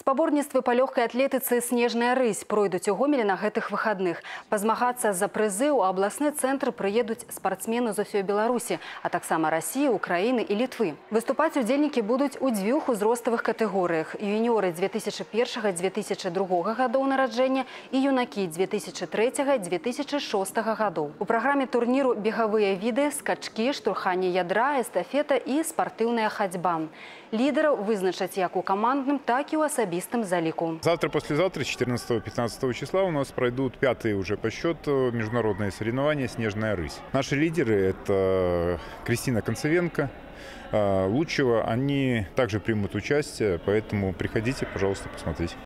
Спаборніцтвы па лёгкай атлетыцы «Снежная рысь» пройдуць у Гомелі на гэтых выхадных. Пазмагацца за прызы ў абласны цэнтр прыедуць спартсмены з усёй Беларусі, а таксама Расіі, Украіны і Літвы. Выступаць удзельнікі будуць у дзвюх узроставых катэгорыях: юніоры 2001-2002 гадоў нараджэння і юнакі 2003-2006 гадоў. У праграме турніру бегавыя віды, скачкі, штурханне ядра, эстафета і спартыўная хадзьба. Лідераў вызначаць як у камандным, так і ў особистом залику. Завтра-послезавтра, 14-15 числа, у нас пройдут пятые уже по счету международные соревнования «Снежная рысь». Наши лидеры – это Кристина Концевенко, Лучева. Они также примут участие, поэтому приходите, пожалуйста, посмотреть.